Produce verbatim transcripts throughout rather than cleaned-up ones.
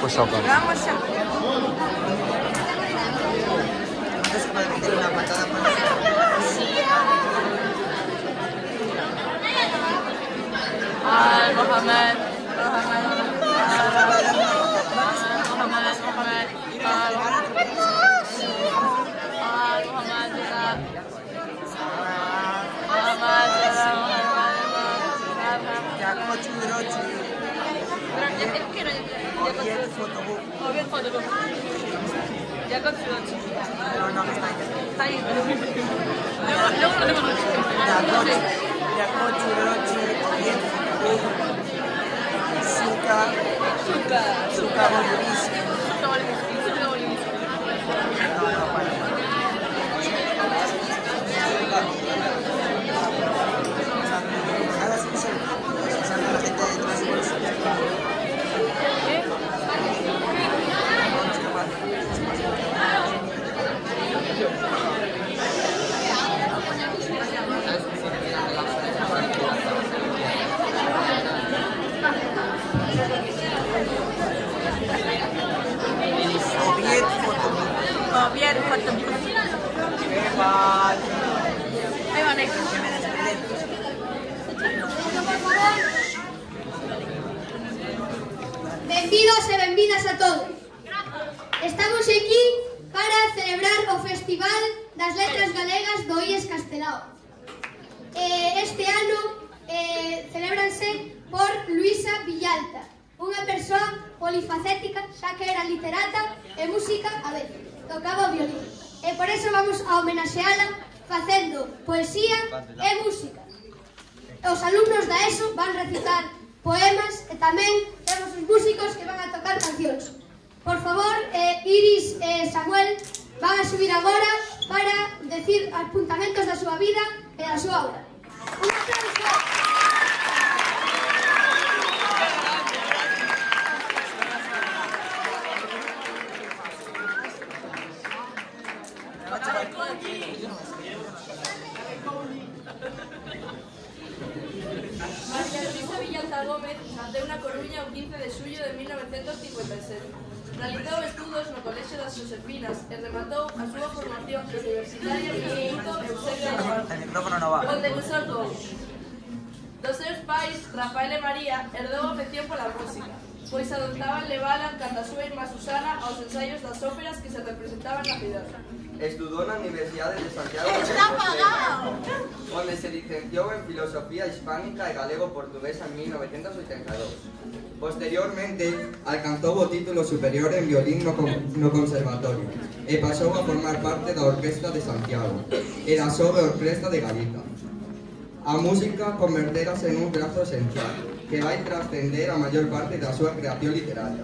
Pois xa vamos. Vamos xa. Non se pode meter unha patada por la Al Mohamed, Mohamed, Mohamed, Mohamed, Mohamed, Al Mohamed, Jaco Churochi. Obiet Fotobuk. Obiet Fotobuk. Jaco Churochi. No, no, está ahí. Está ahí. Luego lo tengo. Jaco Churochi, Obiet Fotobuk. Suka. Suka. Suka Bolivisi. Suka Bolivisi. Suka Bolivisi. No, no, bueno. Ahora sí, sí. Usando la gente de transporte. Obiet Fotobuk. Obiet Fotobuk. Ahí va, Nick. Benvidos e benvidas a todos. Estamos aquí para celebrar o Festival das Letras Galegas do I E S Castelao. Eh, este ano eh, celebranse por Luisa Villalta, unha persoa polifacética, xa que era literata e música a vez, tocaba o violín. E por eso vamos a homenaxeala facendo poesía e música. Os alumnos da ESO van recitar poemas e tamén temos os músicos que van a tocar cancións. Por favor, eh, Iris e Samuel van a subir agora para decir apuntamentos da súa vida e da súa obra. Un aplauso! María Luisa Villalta Gómez naceu na Coruña o quince de xullo de mil novecentos cincuenta e sete. Realizou estudos no Colexio das Josefinas e rematou a súa formación universitaria no Instituto Eusebio de Navarro, onde cursou todo. Dos seus pais, Rafael e María, herdou a afección pola música, pois adoptaban levala cando a súa irmá Susana aos ensaios das óperas que se representaban na cidade. Estudou na Universidade de Santiago de Compostela, onde se licenciou en Filosofía Hispánica e Galego-Portuguesa en mil novecentos oitenta e dous. Posteriormente, alcanzou o título superior en violín no, no Conservatorio e pasou a formar parte da Orquesta de Santiago e da Sobe Orquesta de Galiza. A música converterase en un brazo esencial que vai trascender a maior parte da súa creación literaria.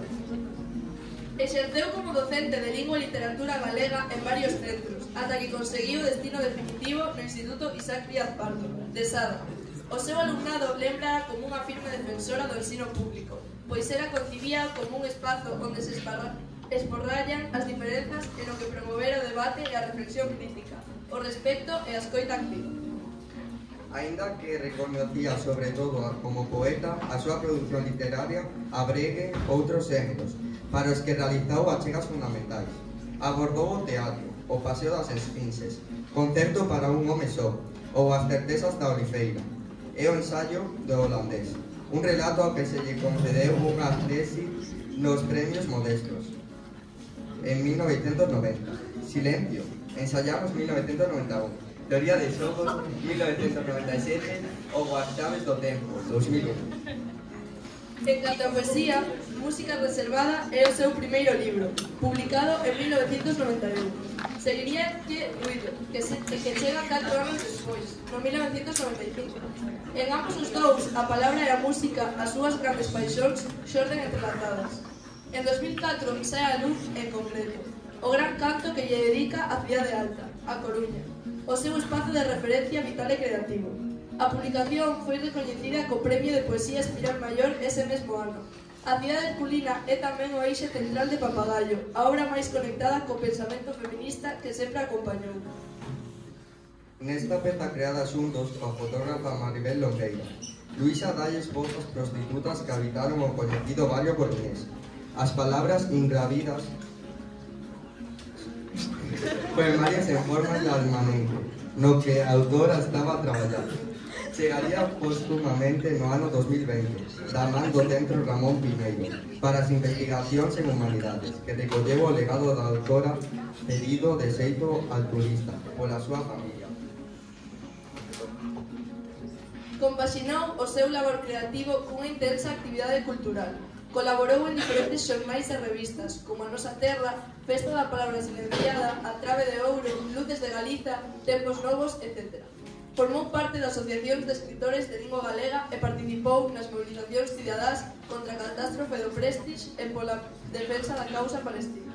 Exerceu como docente de lingua e literatura galega en varios centros, ata que conseguiu o destino definitivo no Instituto Isaac Díaz Pardo, de Sada. O seu alumnado lembra como unha firme defensora do ensino público, pois era concibía como un espazo onde se esporrallan as diferenzas e no que promover o debate e a reflexión crítica, o respecto e a escoita activa. Aínda que reconocía sobre todo como poeta, a súa produción literaria abregue outros xéneros, para os que realizou achegas fundamentais. Abordou o teatro, o Paseo das Esfinxes, Concerto para un home só, ou As certezas da Olifeira, e o ensaio do holandés, un relato ao que se lle concedeu unha tesi nos premios modestos. En mil novecentos noventa, Silencio, ensayamos mil novecentos noventa e un, Teoría de xogos, mil novecentos noventa e sete, ou As chaves do tempo, dos mil un. En canto a poesía, Música reservada é o seu primeiro libro, publicado en mil novecentos noventa e un. Seguiría que Ruido, que, se, que chega catro anos despois, no mil novecentos noventa e cinco. En ambos os dous, a palabra e a música, as súas grandes paixóns, xorden entrelazadas. En dos mil catro sae a luz en concreto, o gran canto que lle dedica a Cidade Alta, a Coruña, o seu espazo de referencia vital e creativo. A publicación foi recoñecida co Premio de Poesía Espiral Maior ese mesmo ano. A cidade herculina é tamén o eixe central de Papagayo, a obra máis conectada co pensamento feminista que sempre acompañou. Nesta peza creada xuntos coa fotógrafa Maribel Longueira, Luisa dalles voz ás prostitutas que habitaron o coñecido barrio coruñés. As palabras ingravidas poemarias en forma de almamenco, no que a autora estaba a traballar. Chegaría póstumamente no ano dos mil veinte, da man do Centro Ramón Piñeiro, para as investigacións en humanidades, que recolleu o legado da autora pedido de xeito altruista pola súa familia. Compaxinou o seu labor creativo cunha intensa actividade cultural. Colaborou en diferentes xornais e revistas, como A Nosa Terra, Festa da Palabra Silenciada, A Trave de Ouro, Luces de Galiza, Tempos Novos, etcétera. Formou parte das asociacións de escritores de lingua galega e participou nas mobilizacións cidadás contra a catástrofe do Prestige e pola defensa da causa palestina.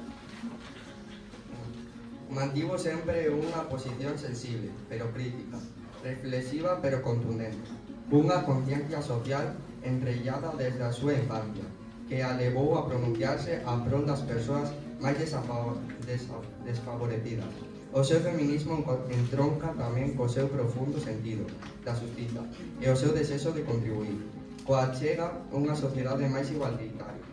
Mantivo sempre unha posición sensible, pero crítica, reflexiva, pero contundente, cunha conciencia social enrellada desde a súa infancia, que a levou a pronunciarse a prol das persoas máis desfavorecidas. O seu feminismo entronca tamén co seu profundo sentido da xustiza e o seu desexo de contribuir, coa chega unha sociedade máis igualitaria.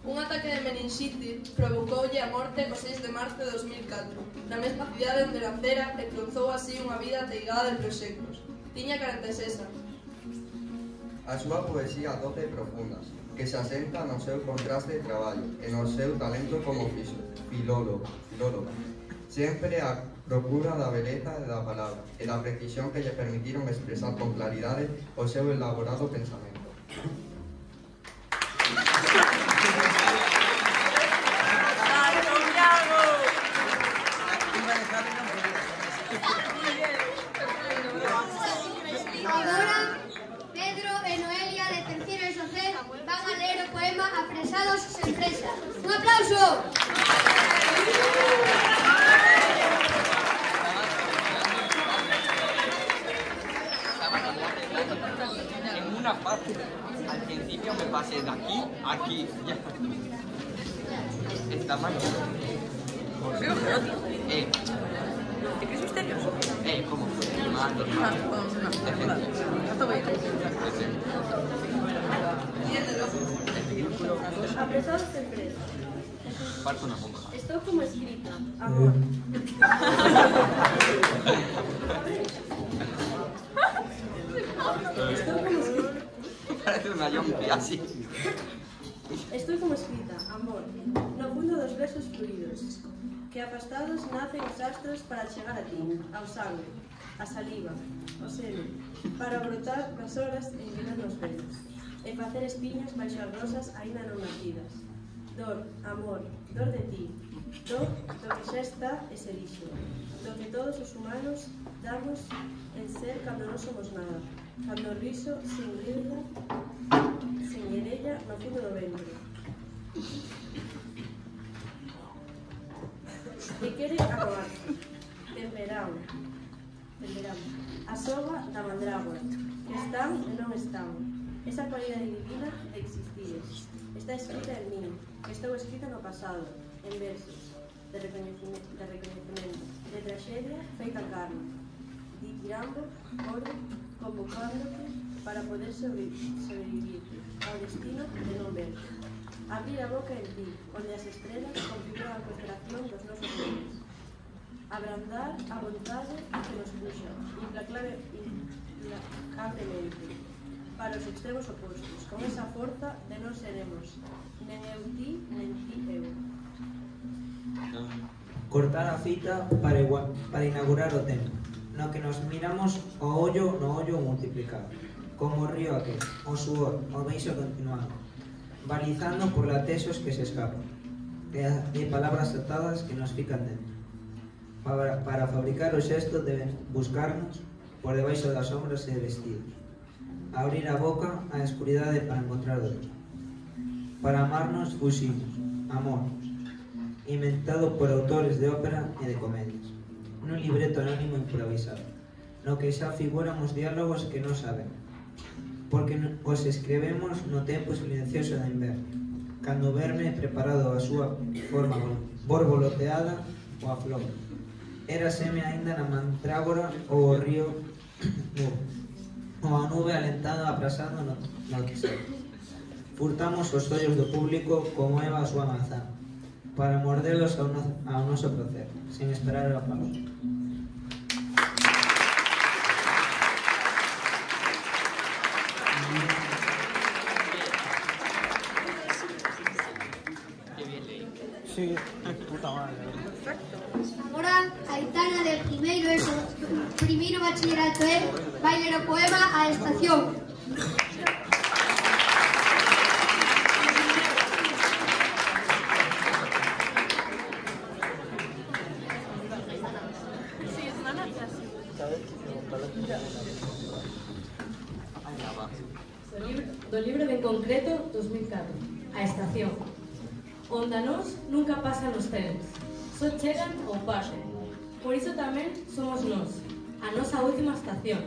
Un ataque de meningite provocoulle a morte o seis de marzo de dos mil catro, na mesma cidade onde nacera e cruzou así unha vida ateigada de proxectos. Tiña corenta e seis anos. A súa poesía doce e profunda, que se asenta no seu contraste de traballo e no seu talento como filóloga, filóloga. Sempre a procura da beleza e da palabra e da precisión que lle permitiron expresar con claridade o seu elaborado pensamento. Agora, Pedro e Noelia de terceiro E S O C van a ler o poema Apresados sen presa. Un aplauso! En una parte, al principio me pasé de aquí a aquí. Esta máquina. Eh. ¿Te crees misterioso? Eh, ¿cómo? Más normal. Apresados en presa. Parto una bomba. Estoy como escrita. Amor. Estoy como escrita. Parece una yompi así. Estoy como escrita. Amor. No fundo dos versos fluidos. Que afastados nacen os astros para chegar a ti, ao sangue, a saliva, o seno, para brotar nas horas en que non nos vemos, e facer espiñas baixo as rosas aínda non nacidas. Dor, amor, dor de ti, dor do que xa está e se lixo, do que todos os humanos damos en ser cando non somos nada, cando o riso sin rirla, sin guerella no fundo do ventre. E quere acabarse. Temperao. Temperao. A soga da mandrágora, que están e non están. Esa cualidade divina de existir. Está escrita en mí, que estou escrita no pasado, en versos, de recoñecimento, de, recoñecimento, de traxedia feita carne, ditirando, oro, convocándote para poder sobrevivir ao destino de non ver. Abrir a boca en ti, onde as estrelas configuran a constelación dos nosos dedos. Abrandar a vontade que nos puxa, implacablemente, para os extremos opostos, con esa forza de non seremos, nen eu ti, nen ti eu. Cortar a fita para, igual, para inaugurar o tempo, no que nos miramos o ollo no ollo multiplicado, como o río aquel, o suor, o beixo continuado, balizando por latesos que se escapan, e palabras atadas que nos fican dentro. Para, para fabricar o xesto deben buscarnos por debaixo das sombras e vestidos, abrir a boca á escuridade para encontrar outro. Para amarnos fuximos, amor, inventado por autores de ópera e de comedias, nun libreto anónimo improvisado, no que xa figuran os diálogos que non saben, porque os escrevemos no tempo silencioso da inverno, cando verme preparado a súa forma borboloteada ou a flor. Era seme aínda na mantrágora ou o río ou a nube alentada abrasando no, no deserto. Furtamos os ollos do público como Eva a súa manzá, para mordelos ao, no, ao noso placer, sin esperar o aplauso. Sí, puta madre. Agora, Aitana de primeiro eso, primeiro bachillerato é vai ler o poema A Estación. Do libro, do libro de En Concreto dos mil catro, A Estación. Onda nós nunca pasan os trens, só chegan ou pasan. Por iso tamén somos nós, a nosa última estación,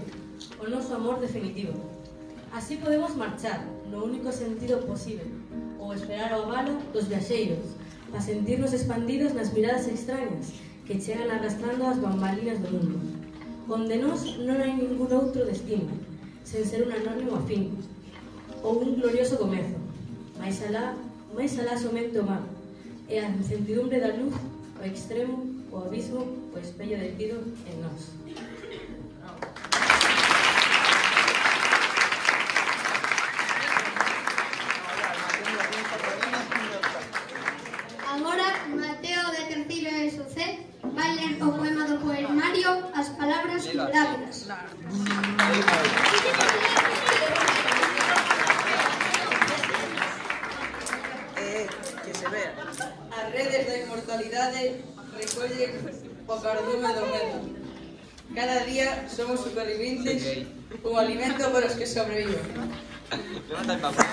o noso amor definitivo. Así podemos marchar, no único sentido posible, ou esperar ao galo dos viaxeiros, para sentirnos expandidos nas miradas extrañas que chegan arrastrando as bambalinas do mundo. Onde nós non hai ningún outro destino, sen ser un anónimo afín, ou un glorioso comezo, máis alá máis alá somente o mar, e a incertidumbre da luz, o extremo, o abismo, o espello detido en nós. Agora, Mateo de terceiro E S O C vai ler o poema do poemario As Palabras Inverábiles. As redes da inmortalidade recollen o cardume do medo. Cada día somos supervivientes, un alimento para os que sobreviven. Levanta el papel.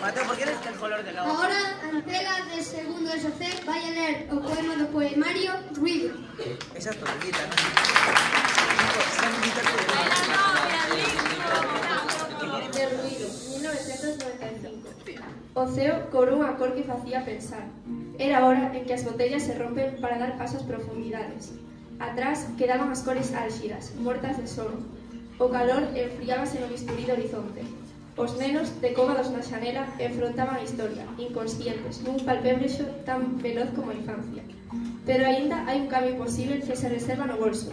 Mateo, ¿por qué eres el color de la hoja? Agora, Antela de segundo E S O C vai a ler o poema do poemario Ruido. Esa es tortuguita, ¿no? De ruido, mil novecientos noventa e cinco. O ceo cobrou unha cor que facía pensar. Era hora en que as botellas se rompen para dar paso ás profundidades. Atrás quedaban as cores álxidas, mortas de sono. O calor enfriábase no bisturí do horizonte. Os nenos, decóvados na xanela, enfrontaban a historia, inconscientes, nun palpébrexo tan veloz como a infancia. Pero aínda hai un cambio posible que se reserva no bolso,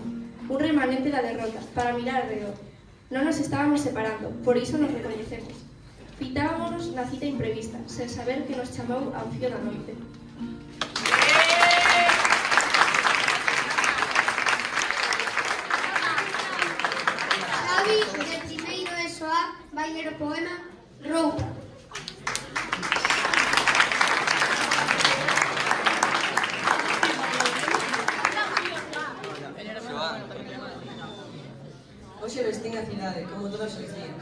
un remanente da derrota, para mirar alrededor. Non nos estábamos separando, por iso nos recoñecemos. Fitábamos na cita imprevista, sen saber que nos chamou ao fío da noite. Xavi, de primeiro E S O A, vai ler o poema Roupa. Hoxe vestín a cidade, como todos os días,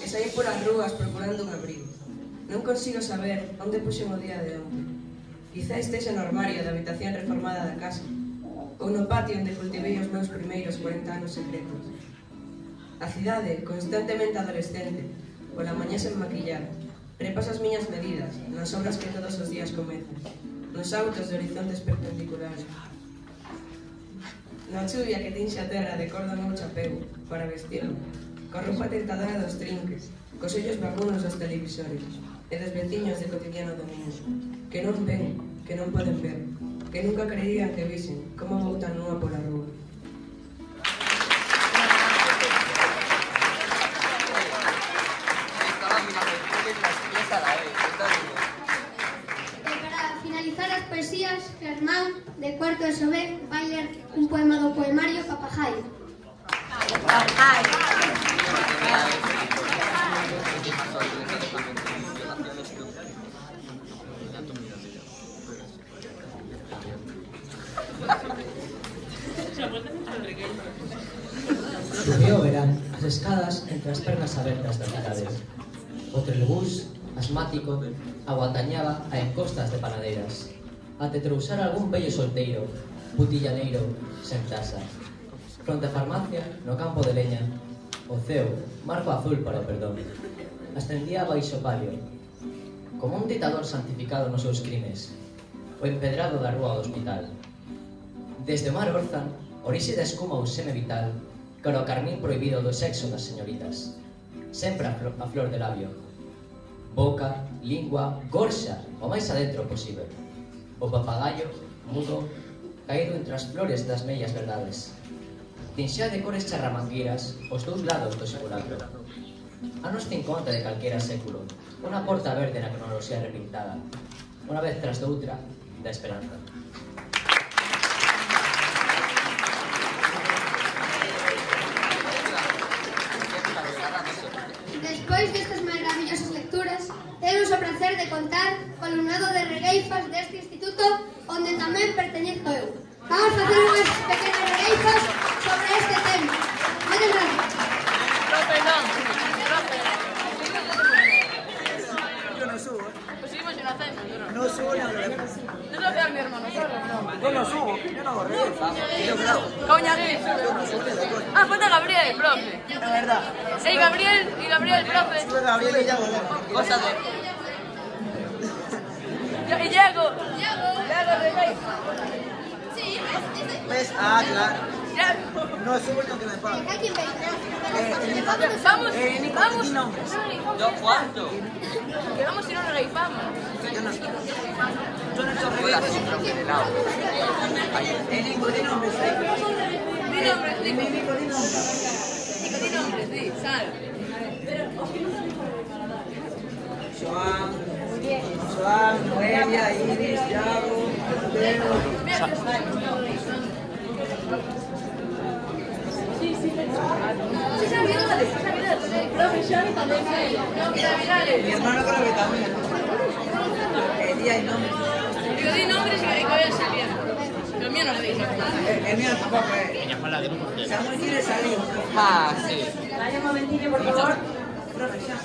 e saí polas rúas procurando un abrigo. Non consigo saber onde puxen o día de onte. Quizá estexa no armario da habitación reformada da casa, ou no patio onde cultivei os meus primeiros cuarenta anos secretos. A cidade, constantemente adolescente, pola mañá sen maquillar, repaso as miñas medidas, nas obras que todos os días comezan, nos autos de horizontes perpendiculares. Na chuvia que tinxe a terra de cor do meu chapeu, para vestirlo, con roupa tentadora dos trinques, cos ollos vacunos dos televisores, e dos veciños de cotidiano domingo, que non ven, que non poden ver, que nunca creían que visen como vou tan nua pola rúa. E para finalizar as poesías, Germán, de cuarto E S O B, vai ler un poema do poemario Papajayo. Subió o verán as escadas entre as pernas abertas das cidades. O trelebús, asmático, aguantañaba a encostas de panadeiras, até trousar algún vello solteiro, putillaneiro, sen tasa. Fronte a farmacia, no campo de leña, o ceo, marco azul para o perdón, ascendía baixo palio, como un ditador santificado nos seus crimes, o empedrado da rúa do hospital. Desde o mar Orzan, orixe da escuma ou seme vital, cara o carmín prohibido do sexo das señoritas. Sempre a, flo a flor de labio. Boca, lingua, gorxa, o máis adentro posible. O papagayo, mudo, caído entre as flores das mellas verdades. Tinxea de cores charramangueiras os dous lados do simulacro. Anos cincuenta de calquera século, unha porta verde na cronoloxía repintada, unha vez tras doutra, da esperanza. Despois destas maravillosas lecturas, temos o placer de contar co alumnado de regueifas deste instituto onde tamén perteñezo eu. Vamos a facer unhas pequenas regueifas sobre este tema. Moitas gracias. Profe, non. Profe. Yo no subo. Pues seguimos en ascenso, ¿no? No subo ni a ver. No lo veo a mi hermano, solo, no. Yo no subo, yo no hago regueifa. Yo grabo. Coña, ¿qué? Ah, falta Gabriel, profe. La verdad. Ey, Gabriel, y Gabriel, profe. Sube Gabriel y ya volvemos. Cosa de... Y Diego. Diego, regueifa. ¿Ves? Ah, claro. Ya. No subo ni aunque me paguen. Hay quien venga. Eh, Vamos, eh, Nico, vamos. di nombres. ¿Yo cuánto? Que vamos y no regueifamos. Yo no subo. Yo no subo. Hola, sí, profe, de lado. Eh, Nico, di nombres. Di nombres, Di Nico. Nico, di nombres. Nico, di nombres, di, sal. Joan, Joan, Noelia, Iris, Yago, Mateo. Mi hermano creo que también. Eh, día y nombre. Digo, di nombres y que voy a salir. Pero el mío no lo dice. Eh, el mío tampoco, eh. Samuel quiere salir. Ah, sí. Vaya un momentillo, por favor. Profe, ya.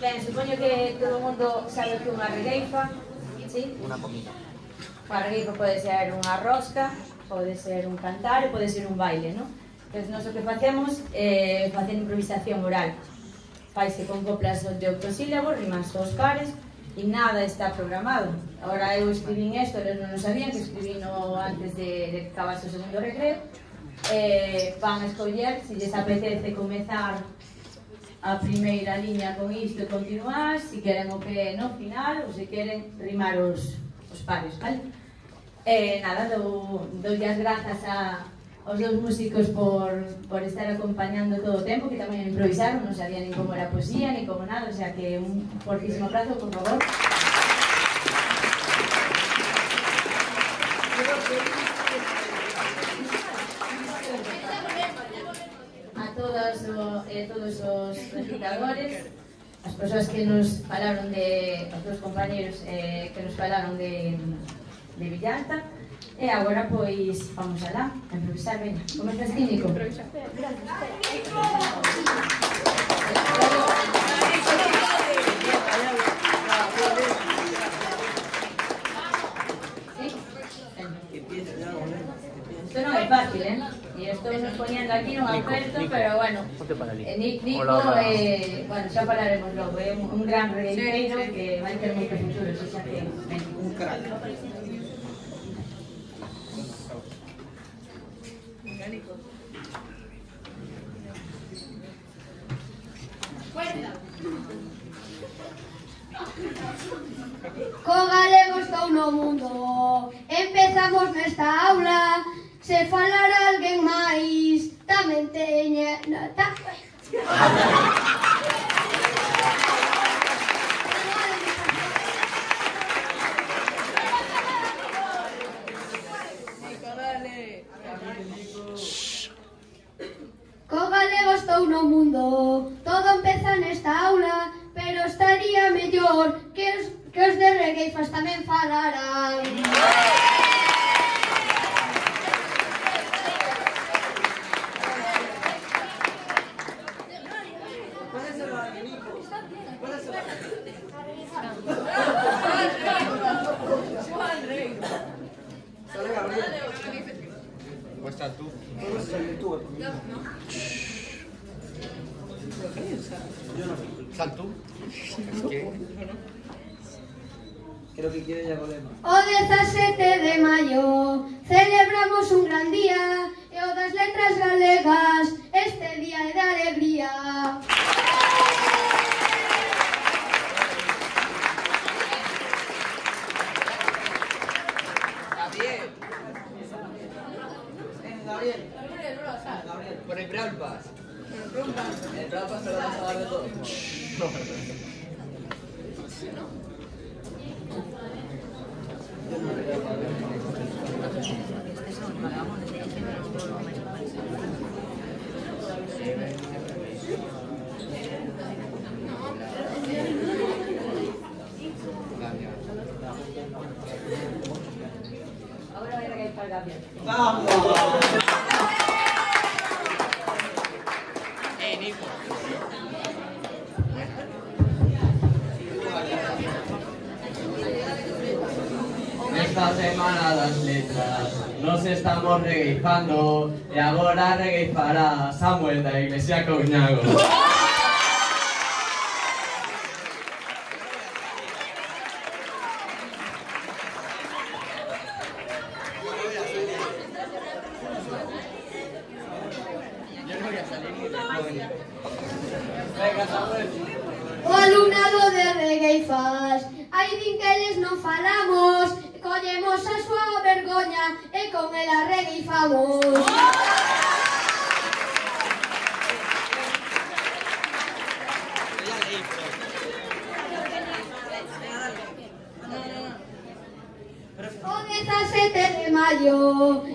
Ben, supoño que todo o mundo sabe que unha regueifa, sí? Una comida. Unha regueifa pode ser unha rosca, pode ser un cantar e pode ser un baile, non? Entón, nós o que facemos é eh, facer improvisación oral. Faise con coplas de octosílabos, rimas aos pares, e nada está programado. Agora eu escribín isto, eles non o sabían, que escribino antes de, de que acabase o segundo recreo. Eh, van a escoller, se lles apetece comezar a primeira liña con isto e continuar, se queren o que no final, ou se queren rimar os, os pares, vale? Eh, nada, dou, dou as grazas a, aos dous músicos por, por estar acompañando todo o tempo, que tamén improvisaron, non sabían nin como era poesía, nin como nada, o sea que un fortísimo abrazo, por favor. A todos, o, eh, todos os recitadores, as persoas que nos falaron de, os dos compañeros eh, que nos falaron de, de Villalta. E agora, pois, vamos alá, a improvisar, veña. Comezas ti, Nico? Isto non é fácil, eh? E estou nos poñendo aquí non aperto, pero bueno, eh, Nico, eh, bueno, xa falaremos logo, é un, un gran regueiteiro que vai ter moito futuro, xa que ven. Un crack. Co galego estou no mundo. Empezamos nesta aula. Se falara alguén máis, tamén teña... No, ta... Co galego estou no mundo. Todo empeza nesta aula, pero estaría mellor que os, que os de regueifas tamén falaran. Cuesta tú. Sal tú. Es que... Creo que quiere ya volvemos. O dezasete de maio celebramos un gran día e o das letras letras galegas, este día é de alegría. Gabriel. Gabriel. Por el Brawl Pass. El Brawl Pass se lo vas a dar de todo. Ahora voy a regalar para Gabriel. ¡Vamos! ¡Eh, Nico! Esta semana das letras nos estamos regueifando e agora regueifará Samuel da Iglesia Couñago. O alumnado de Regueifas, hai din que eles non falamos, collemos a súa vergoña e con ela regueifamos. O dezasete de maio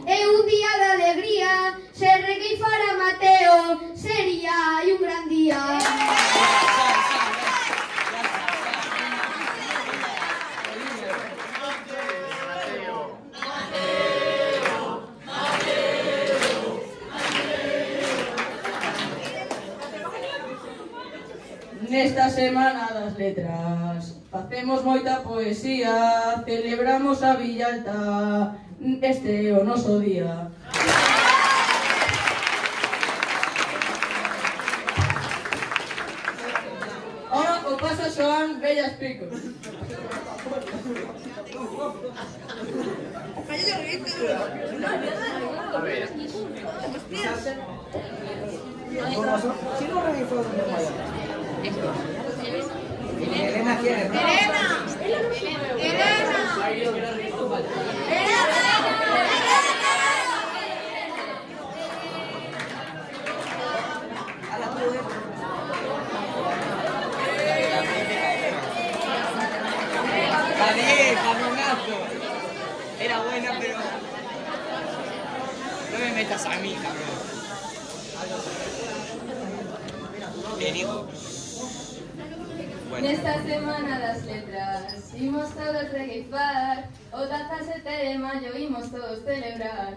é un día de alegría, se regueifara Mateo sería un gran día. Nesta semana das letras facemos moita poesía, celebramos a Villalta, este é o noso día. Ora o paso a Xoán Bellas Picos. A ver. Si no regueifó de Maya. Elena quiere, ¿no? Elena. Elena. Gabriel, cabronazo. Era buena, pero no me metas a mí, cabrón. Bien, hijo. Bueno. Nesta semana das letras imos todos regueifar, o dezasete de maio imos todos celebrar.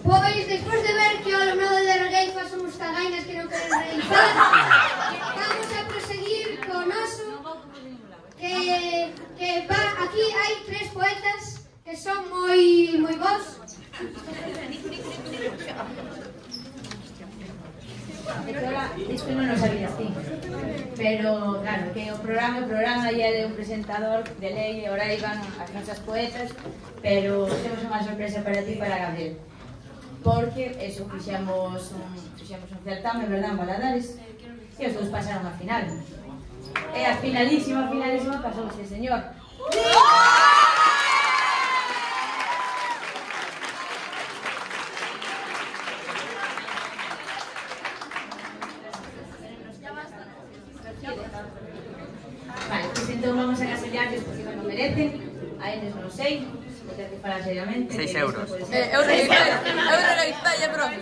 Pois, despois de ver que o alumnado de Regueifas somos cagainas que non queren regueifar, vamos a proseguir co noso, que, que va, aquí hai tres poetas que son moi moi bons. Isto non o sabía así. Pero, claro, que o programa, o programa ia de un presentador de lei, e ora iban as nosas poetas, pero temos unha sorpresa para ti, para Gabriel. Porque, eso, fixamos un, fixamos un certame, verdad, en Valadares, e os dous pasaron a final. E a finalísima, finalísima, pasou este señor. Vale, pues entón vamos a casellarles porque non o merecen. A eles non sei, vou ter que falar seriamente. Seis euros. Eh, eu regueifei, eu regueifei, é profe.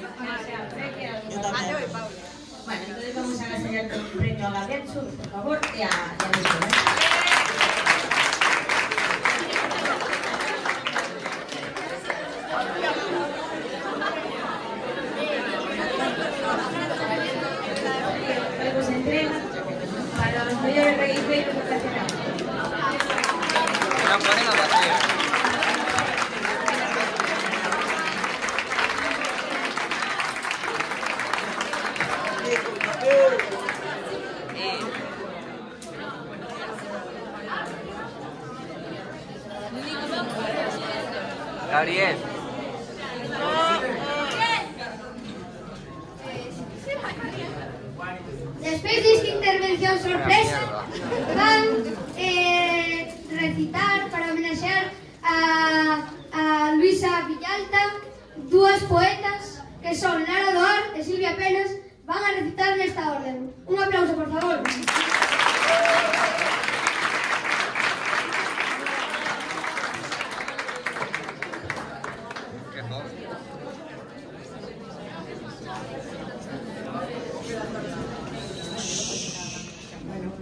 Bueno, entonces vamos a casellar con un premio a Gabriel, por favor, e a Luisa, ¿eh? Luego se entrega para los mayores regueifeiros ocasionados. No ponen a vacío. Gabriel. Despois desta intervención sorpresa, van eh, recitar para homenaxear a, a Luisa Villalta, dúas poetas que son Lara Doar e Silvia Penas, van a recitar nesta orden. Un aplauso, por favor.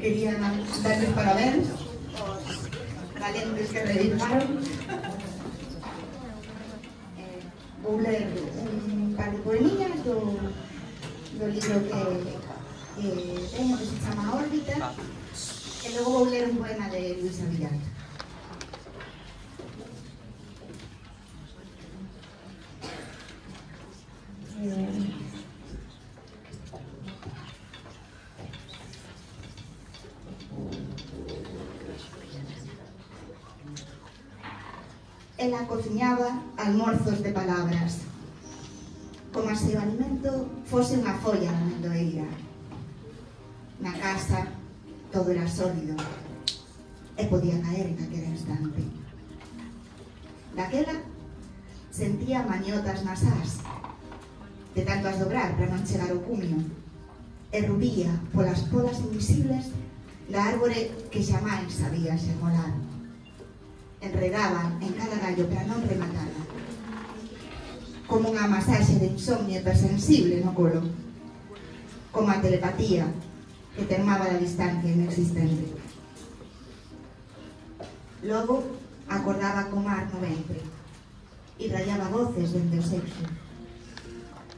Quería darles parabéns aos valentes que realizaron. Eh, vou ler un par de poemillas do, do libro que, que teño, que se chama Órbita, e logo vou ler un poema de Luisa Villalta. Eh, Ela cociñaba almorzos de palabras, como se o alimento fose unha folla na mendoeira. Na casa todo era sólido e podía caer en aquel instante. Daquela sentía mañotas nas ás, de tanto as dobrar para non chegar ao cumio, e rubía polas podas invisibles da árbore que xamais había xermolar. Enredaban en cada gallo para non rematala, como unha masaxe de insomnio hipersensible no colo, como a telepatía que termaba da distancia inexistente. Logo acordaba co mar no ventre e rayaba voces dende o sexo,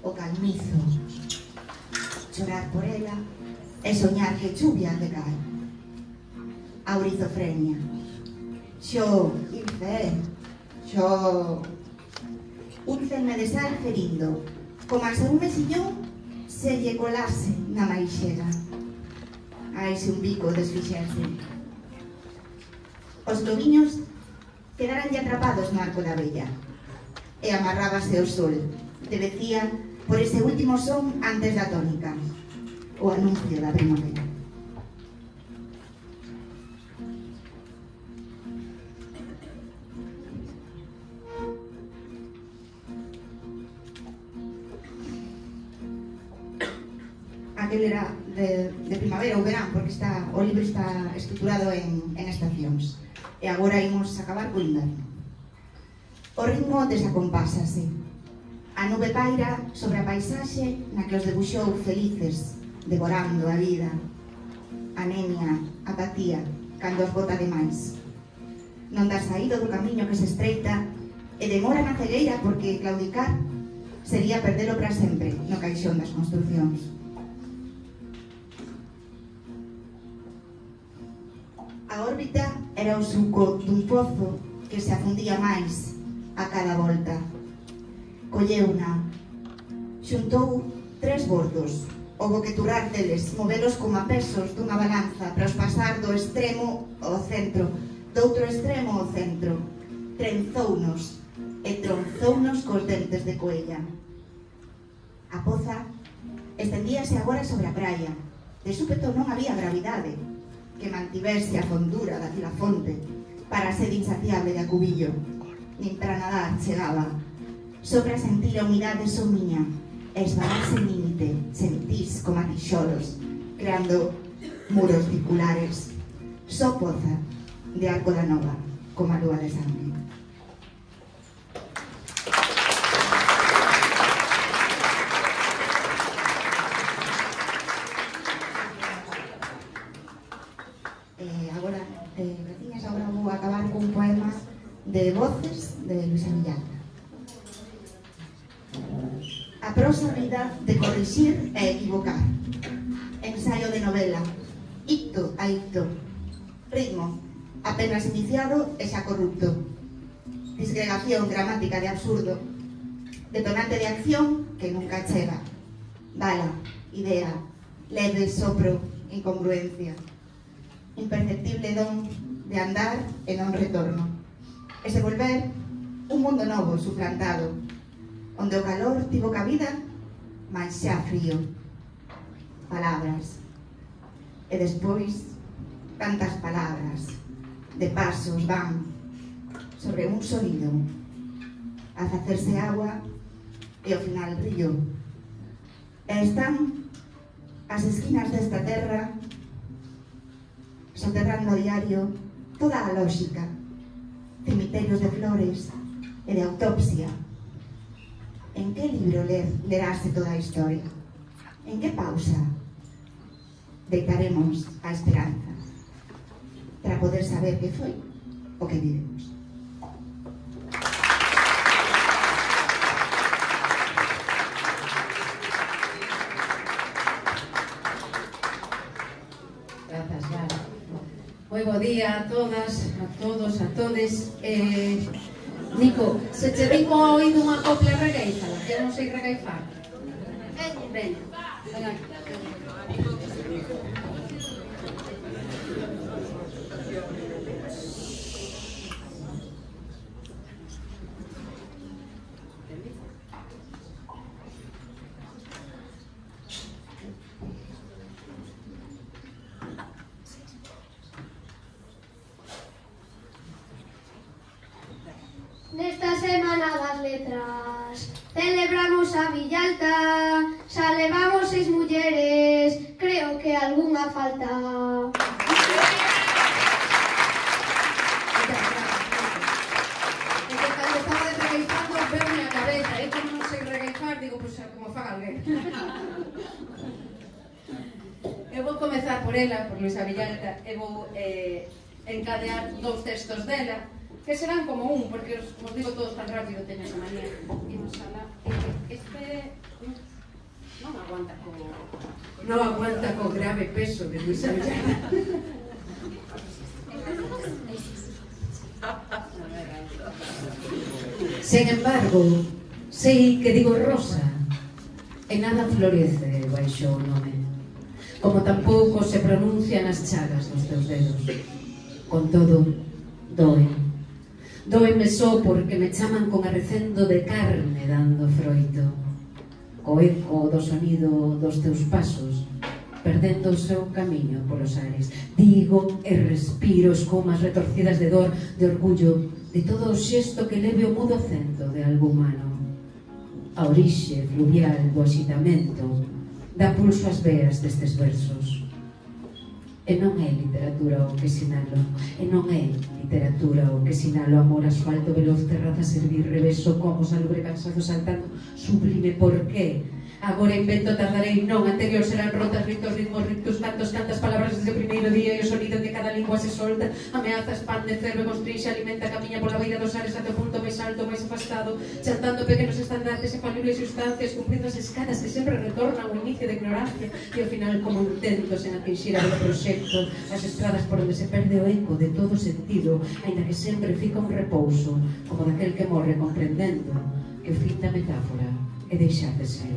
o calmizo, chorar por ela e soñar que chuvia de cae, a orizofrenia. Xo, Infe, xo... Un cenme de sal ferindo, como se un mesillón se lle colase na maixera. Aise un bico desfixense. Os lobiños quedaranlle atrapados no arco da vella, e amarrábase o sol, debecían por ese último son antes da tónica, o anuncio da primavera. Aquel era de, de primavera ou verán, porque está, o libro está estruturado en, en estacións. E agora imos acabar co inverno. O ritmo desacompásase. A nube paira sobre a paisaxe na que os debuxou felices, devorando a vida. Anemia, apatía, cando os bota demais. Non dá saído do camiño que se estreita e demora na cegueira porque claudicar sería perdelo para sempre no caixón das construcións. A órbita era o suco dun pozo que se afundía máis a cada volta. Colleuna, xuntou tres bordos, o boqueturar deles, movelos como a pesos dunha balanza para os pasar do extremo ao centro, do outro extremo ao centro. Trenzounos e tronzounos cos dentes de coella. A poza estendíase agora sobre a praia. De súpeto non había gravidade que mantivese a fondura daquela fonte para a sede insaciable de Acubillo, nin para nadar chegaba. Só para sentir a humidade somiña e esbararse en límite, sentís como a tixolos, creando muros circulares. Só poza de Arco da Nova, como a lúa de sangue. De voces de Luisa Villalta. A prosa vida de corrixir e equivocar. Ensaio de novela, icto a icto. Ritmo, apenas iniciado e xa corrupto. Disgregación gramática de absurdo. Detonante de acción que nunca chega. Bala, idea, leve sopro, incongruencia. Imperceptible don de andar e non retorno. Ese volver, un mundo novo suplantado, onde o calor tivo cabida, mas xa frío. Palabras. E despois, tantas palabras, de pasos van sobre un sonido, a facerse agua e ao final brillo. E están as esquinas desta terra soterrando a diario toda a lógica, cemiterios de flores e de autopsia. En que libro ler, lerase toda a historia? En que pausa deitaremos a esperanza para poder saber que foi o que vivimos? Grazas, Lara. Moi bo día a todas, a todos, a todes. Eh, Nico, se che vin co oído unha copla regueifala, que eu non sei regueifar. Veña, ven aquí. Nesta semana das letras celebramos a Villalta, xa levamos seis mulleres, creo que algunha falta. E que cando estaba regueifando veume a cabeza, e como non sei regueifar, digo, pois como faga alguén. Eu vou comezar por ela, por Luisa Villalta, e vou eh, encadear dous textos dela, que serán como un, porque os, os digo todos tan rápido, teño esa manía. Imos alá. Este non aguanta co... non aguanta co grave peso de Luisa Villalta. Sen embargo, sei que digo rosa, e nada florece baixo o nome, como tampouco se pronuncian as chagas dos teus dedos. Con todo, doe. Doeme só porque me chaman con arrecendo de carne dando froito, co eco do sonido dos teus pasos, perdendo o seu camiño polos ares. Digo e respiro escomas retorcidas de dor, de orgullo, de todo o xesto que leve o mudo acento de algo humano. A orixe fluvial do axitamento dá pulso ás veas destes versos. E non é literatura o que sinalo, e non é literatura o que sinalo amor, asfalto, veloz, terraza, servir, reveso, como salubre, cansado, saltando, sublime, por qué? Agora invento, tardarei, non, anterior serán rotas, ritos, ritmos, rictus, cantos, cantas palabras desde o primeiro día e o sonido que cada lingua se solta, ameaza, expande, ferve, constrinxe, alimenta, camiña pola beira dos ares até o punto máis alto, máis afastado, chantando pequenos estandartes e falibles sustancias, cumprindo as escadas que sempre retornan ao inicio de ignorancia e ao final como intentos en atingir a do proxecto, as estradas por onde se perde o eco de todo sentido, aínda que sempre fica un repouso, como daquel que morre comprendendo que o fin da metáfora é deixar de ser.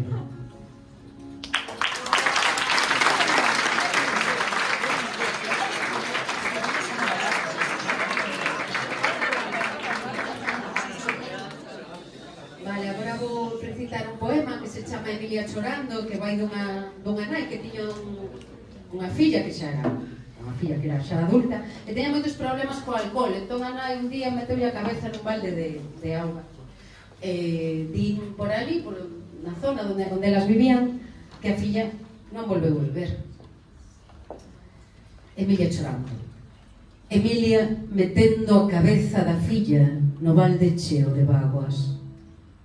Vale, agora vou recitar un poema que se chama Emilia chorando, que vai dunha, dunha nai que tiña un, unha filla que xa era unha filla que era xa adulta e teña moitos problemas co alcohol, entón a nai un día meteulle a cabeza nun balde de, de auga. Eh, din por ali, por, na zona onde, onde elas vivían, que a filla non volveu volver. Emilia chorando. Emilia metendo a cabeza da filla no balde cheo de vaguas,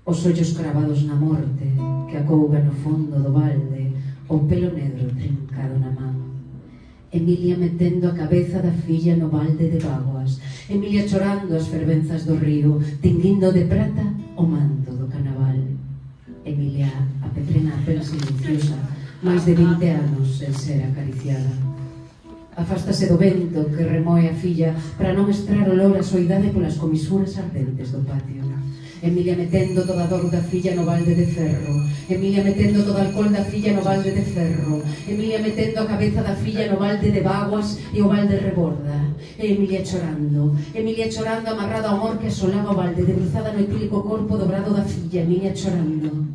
os ollos cravados na morte que acouga no fondo do balde, o pelo negro trincado na man. Emilia metendo a cabeza da filla no balde de vaguas, Emilia chorando as fervenzas do río, tinguindo de prata o manto do canaval. Emilia a petrena pero silenciosa, máis de vinte anos sen ser acariciada. Afástase do vento que remoe a filla para non estrar olor a soidade polas comisuras ardentes do patio. Emilia metendo toda a dor da filla no balde de ferro, Emilia metendo todo o alcohol da filla no balde de ferro, Emilia metendo a cabeza da filla no balde de vaguas e o balde reborda, e Emilia chorando, Emilia chorando amarrada ao amor que asolaba o balde, debruzada no etílico corpo dobrado da filla, Emilia chorando,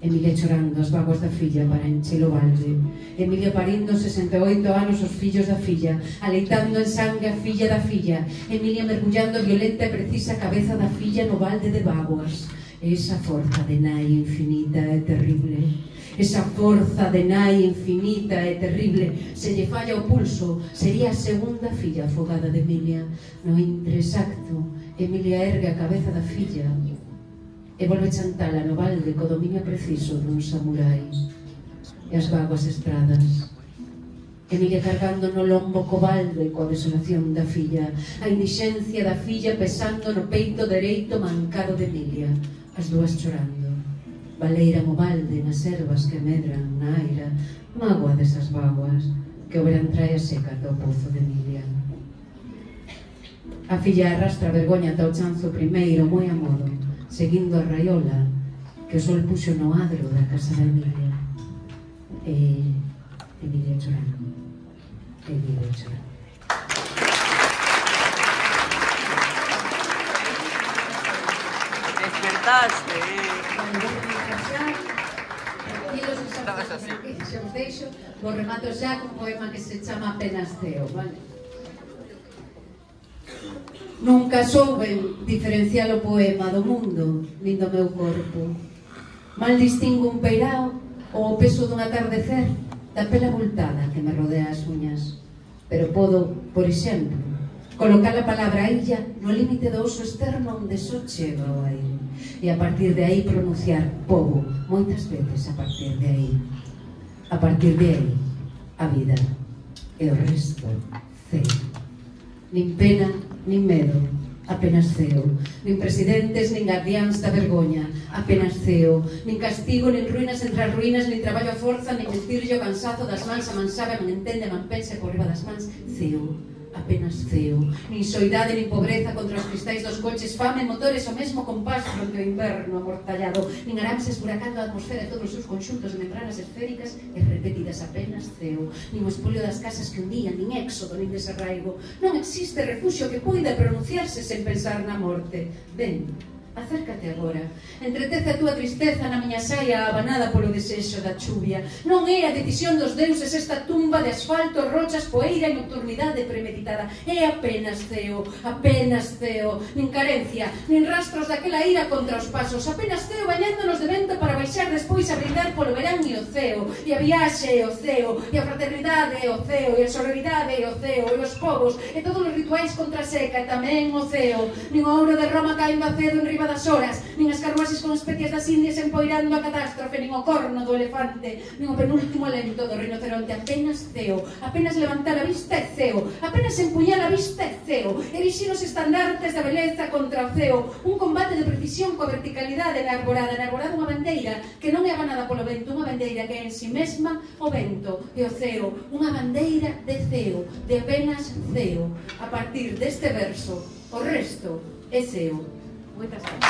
Emilia chorando as vaguas da filla para encher o balde, Emilia parindo sesenta e oito anos os fillos da filla, aleitando en sangue a filla da filla, Emilia mergullando violenta e precisa a cabeza da filla no balde de vaguas. Esa forza de nai infinita e terrible, esa forza de nai infinita e terrible, se lle falla o pulso, sería a segunda filla afogada de Emilia. No intrexacto, Emilia ergue a cabeza da filla e volve chantala no balde co dominio preciso dun samurai. E as vaguas estradas, Emilia cargando no lombo co balde coa desolación da filla, a indixencia da filla pesando no peito dereito mancado de Emilia, as dúas chorando, baleira mo balde nas ervas que medran na aira, mágoa desas vaguas que o verán trae a seca do pozo de Emilia. A filla arrastra a vergoña ata o chanzo primeiro moi a modo, seguindo a raiola que o sol puxo no adro da casa da Emilia. E Emilia chorando, Emilia chorando. Despertaste, Estabas así. Se os deixo, vos remato xa con un poema que se chama Apenas Ceo, vale? Nunca souben diferenciar o poema do mundo, nin do meu corpo. Mal distingo un peirao ou o peso dun atardecer da pela abultada que me rodea as uñas. Pero podo, por exemplo, colocar a palabra illa no límite do oso externo onde só chega o aire. E a partir de aí pronunciar pobo, moitas veces a partir de aí. A partir de aí, a vida. E o resto, ceo. Nin pena, nin medo, apenas ceo. Nin presidentes, nin guardiáns da vergoña, apenas ceo. Nin castigo, nin ruínas entre as ruínas, nin traballo a forza, nin vestirlle o cansazo das mans, a man sabe, a man entende, a man pensa por riba das mans, ceo. Apenas ceo, nin soidade nin pobreza contra os cristais dos coches, fame, motores, o mesmo compás fronte ao inverno amortallado, nin arames esburacando a atmosfera de todos os seus conxuntos de membranas esféricas e repetidas, apenas ceo, nin o espolio das casas que un día, nin éxodo, nin desarraigo. Non existe refuxio que poida pronunciarse sen pensar na morte. Ben, acércate agora, entretece a túa tristeza na miña saia abanada polo desexo da chuvia. Non é a decisión dos deuses esta tumba de asfalto, rochas, poeira e nocturnidade premeditada. É apenas ceo, apenas ceo, nin carencia, nin rastros daquela ira contra os pasos, apenas ceo bañándonos de vento para baixar despois a brindar polo verán e o ceo, e a viaxe e o ceo, e a fraternidade e o ceo, e a sororidade e o ceo, e os povos, e todos os rituais contra a seca, e tamén o ceo. Nin o ouro de Roma caendo a cedo en riba das horas, nin as carruaxes con especias das Indias empoirando a catástrofe, nin o corno do elefante, nin o penúltimo alento do rinoceronte. Apenas ceo, apenas levantar a vista é ceo, apenas empuñar a vista é ceo, erixir os estandartes da beleza contra o ceo, un combate de precisión coa verticalidade na arborada, na arborada unha bandeira que non é abanada polo vento, unha bandeira que é en si mesma o vento e o ceo, unha bandeira de ceo, de apenas ceo. A partir deste verso, o resto é ceo. Moitas gracias.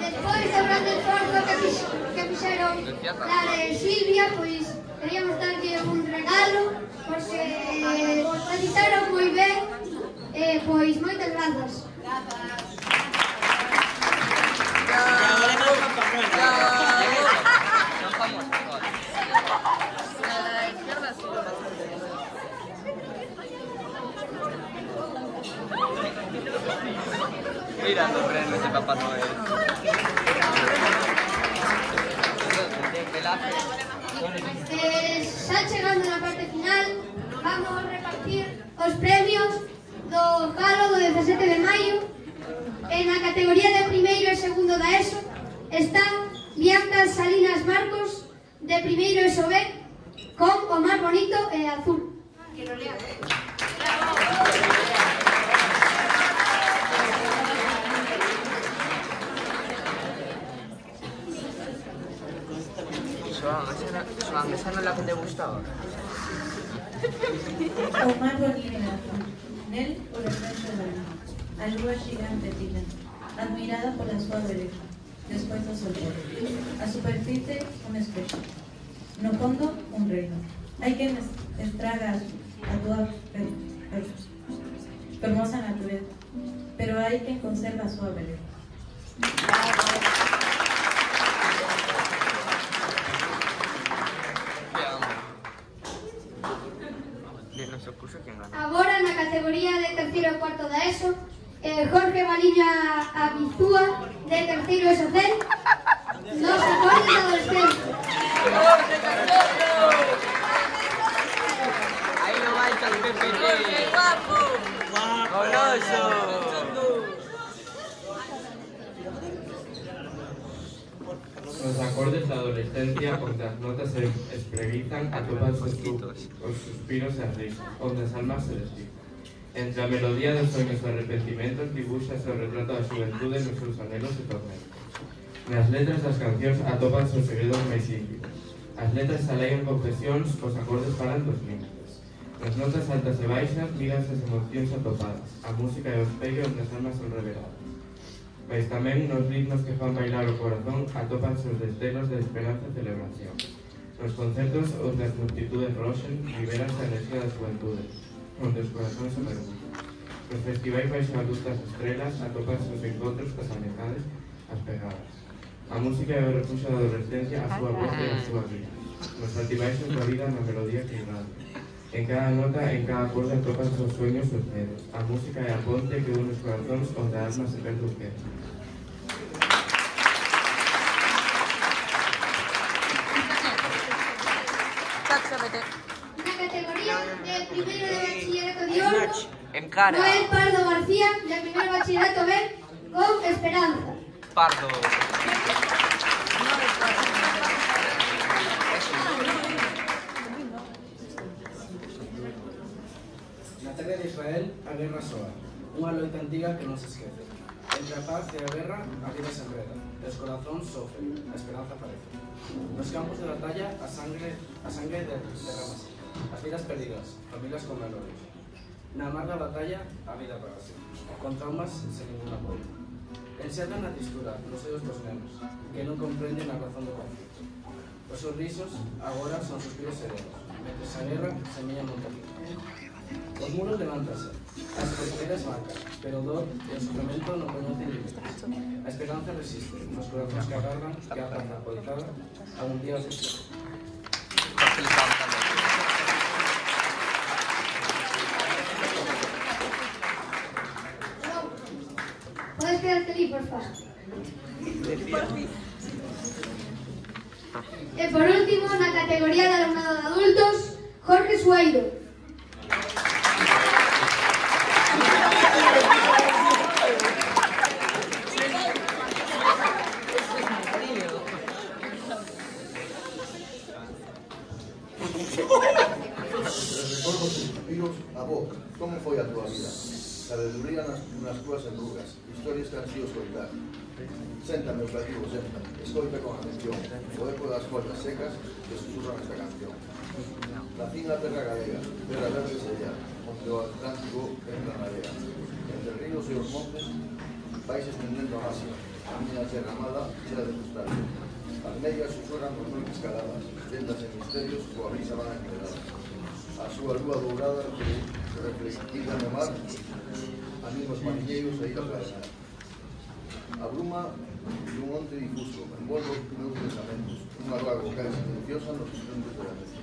Despois do grande esforzo que, fix, que fixeron la de Silvia, pois queríamos darlle un regalo porque o editaron moi ben, eh, pois moitas grazas. Mira, no prende ese Papá Noel. Eh, xa chegando na parte final, vamos a repartir os premios do Galo do dezasete de maio. En a categoría de primeiro e segundo da ESO están Bianca Salinas Marcos, de primeiro ESO B, con o máis bonito e azul. Que lo lea. Xoan, Xoan, esa non é la que te gustaba. O mar boliviano, nel o reflexo da luz. A lúa xigante tira, admirada pola súa beleza, despois do soltero. A superficie, un espejo. No fondo, un reino. Hai quen estraga a túa fermosa natureza, pero hai quen conserva a súa beleza. Agora, na categoría de terceiro e cuarto da ESO, eh, Jorge Baliña Abizúa, de terceiro ESO C, nos acordes adolescentes. Aí non vai tal P P T. Guapo. Goloso. Os acordes da adolescencia onde as notas se espreguizan atopan os suspiros e as risas, onde as almas se desdizan. Entre a melodía dos soños e arrepentimentos dibuxase o retrato da xuventude nos seus anhelos e tormentos. Nas letras das cancións atopanse os segredos máis íntimos. As letras alegan confesións, os acordes falan dos límites. Nas notas altas e baixas míranse as emocións atopadas, a música e o espello onde as almas son reveladas. Mais tamén nos ritmos que fan bailar o corazón atópanse os destellos de esperanza e celebración. Nos concertos onde as multitudes roxen liberanse a enerxía da xuventude, onde os corazóns se mergullan. Nos festivais baixo a luz das estrelas atópanse os encontros cas amizades, as pegadas. A música é o refuxo da adolescencia, a súa voz e a súa vida. Nos altibaixos da vida na melodía que irradia. En cada nota, en cada acorde atópanse os sueños e os medos. A música é a ponte que une os corazóns onde a alma se perde o queda. Na categoría de primeiro de bachillerato de Olmo, Encara. Noel Pardo García, de primeiro bachillerato B, con Esperanza. Pardo. Na terra de Israel, a guerra soa, unha loita antiga que non se esquece. Entre a paz e a guerra, a vida se enreda, e os corazóns sofren, a esperanza aparece. Nos campos de batalla, a sangre, a sangre derramase, as vidas perdidas, familias con menores. Na mar da batalla, a vida apagase, con traumas sen ningún apoio. Enxergan na tristura nos ollos dos nenos, que non comprenden a razón do conflito. Os sorrisos agora son suspiros serenos, mentre a guerra semella montaña. Os muros levántase, as fronteras marcan, pero o dor e o sofrimento non conocen límites. A esperanza resiste, nos corazones que agarran, que a paz alcoholizada, algún día os existe. Podes quedarte ali, por favor. E por último, na categoría de alumnado de adultos, Jorge Sueiro. Avó, como foi a túa vida? Sabeduría nas, nas túas enrugas, historias que han sido escoitar. Senta, meus cativos, senta, escoita con atención, o eco das follas secas que susurran esta canción. Nací na terra galega, terra verde sellar, onde o Atlántico entra na area. Entre ríos e os montes, vais estendendo a máxima, a miña terra amada chea de cristal. As meigas susurran nos noites caladas, tendas en misterios, coa brisa van enredadas. A súa lúa dourada reflectida no mar, animos mariñeiros e ir a planear. A bruma dun monte difuso envolve os meus pensamentos, unha vaga vocal silenciosa nos instantes de lamezos.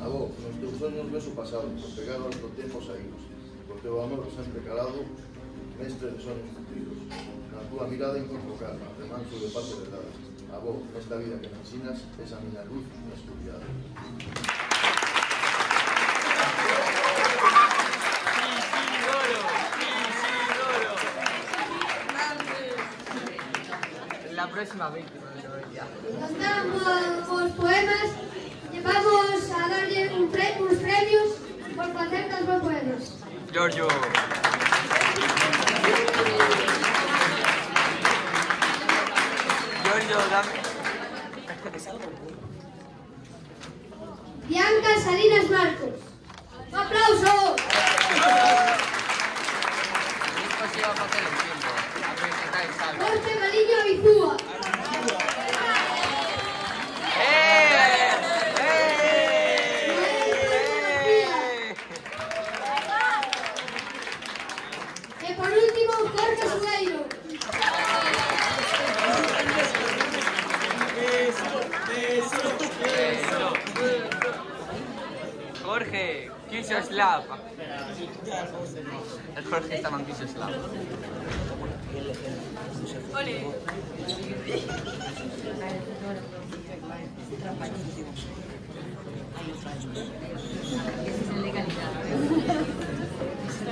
Avó, nos teus sonhos ves o pasado, os pegados do tempo saídos, o teu amor sempre calado, mestre de sonhos cumpridos. Na túa mirada encontro calma, remanso de paz e verdade. Avó, nesta vida que me ensinas, esa miña luz na escuridade. La próxima víctima. Nos damos os poemas e vamos a darlle un pre uns premios por facer dos bons poemas. Giorgio. Giorgio, dame. Lucas Salinas Marcos. ¡Un aplauso! Jorge Maliño Bizúa. Y por último, Jorge Sueiro. Jorge, Kisyoslav. El Jorge estaba en Kisyoslav. Ole.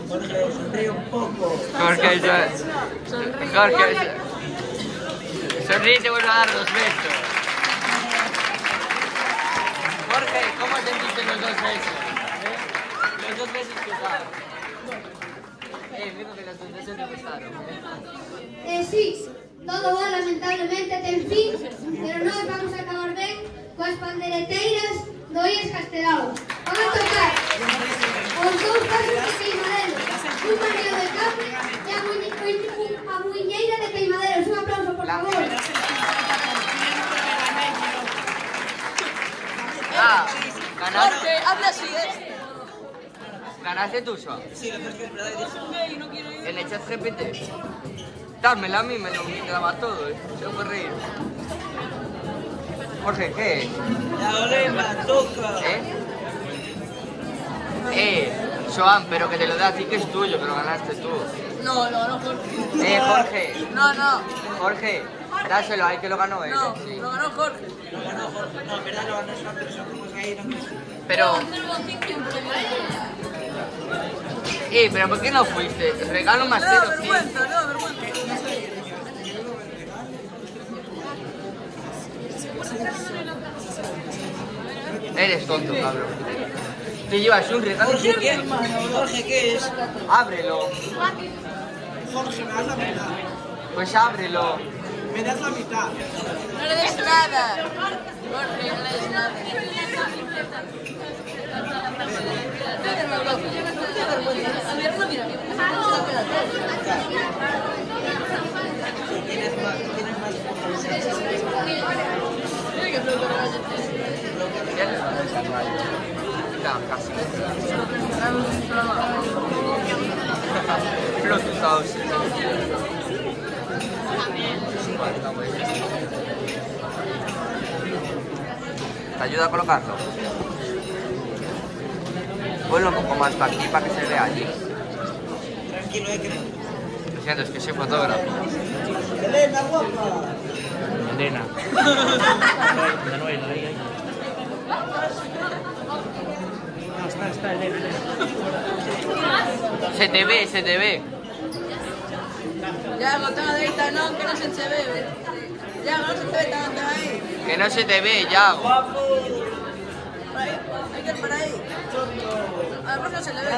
Jorge, sonríe un poco. Jorge, ya. Jorge, sonríe y te vuelvo a dar dos besos. Jorge, ¿cómo sentiste los dos besos? ¿Eh? Los dos besos que usaron. Eh, digo que los dos besos te gustaron. Eh, sí, todo va lamentablemente ten fin, pero nós vamos a acabar ben coas pandereteiras do I E S Castelao. Van a tocar os dous pasos de Queimaderos, un mareo de café e a, muñe, a muñeira de Queimaderos. Un aplauso, por favor. Ah, ganaste. Habla así, ¿eh? ¿Ganaste tú, Joan? Sí, lo que es verdad. En el chat G P T. Dármela a mí, me lo graba todo, ¿eh? Se puede reír. Jorge, ¿qué? La olema, toca. ¿Eh? Eh, Joan, pero que te lo dé a ti, que es tuyo, que lo ganaste tú. No, lo ganó Jorge. Eh, Jorge. No, no. Jorge, dáselo a él que lo ganó él. No, Sí. lo ganó Jorge. Lo ganó Jorge. No, en verdad lo ganó esa persona. Como ahí, no me... Pero... Eh, pero ¿por qué no fuiste? Regalo más No, cero, vergüenza, no, vergüenza. Eres tonto, cabrón. Te llevas un regalo. Jorge, ¿qué? Jorge, ¿qué es? Ábrelo. Jorge, me das la mitad. Pues ábrelo. Me das la mitad. No le des nada. Jorge, no le des nada. Tienes más, tienes más Casi. Flotus House. ¿Te ayuda a colocarlo? Ponlo un poco más para aquí, para que se vea allí. Tranquilo, eh, que... Lo siento, es que soy fotógrafo. Elena, guapa. Elena. Manuel, ahí, ahí. No, está, está, Elena. Se te ve, se te ve. Ya, no tengo derecha, no, que no se te ve. Ya, no se te ve tanto ahí. Que no se te ve, Yago. Por ahí, hay que ir por ahí. A la profe no se le ve. No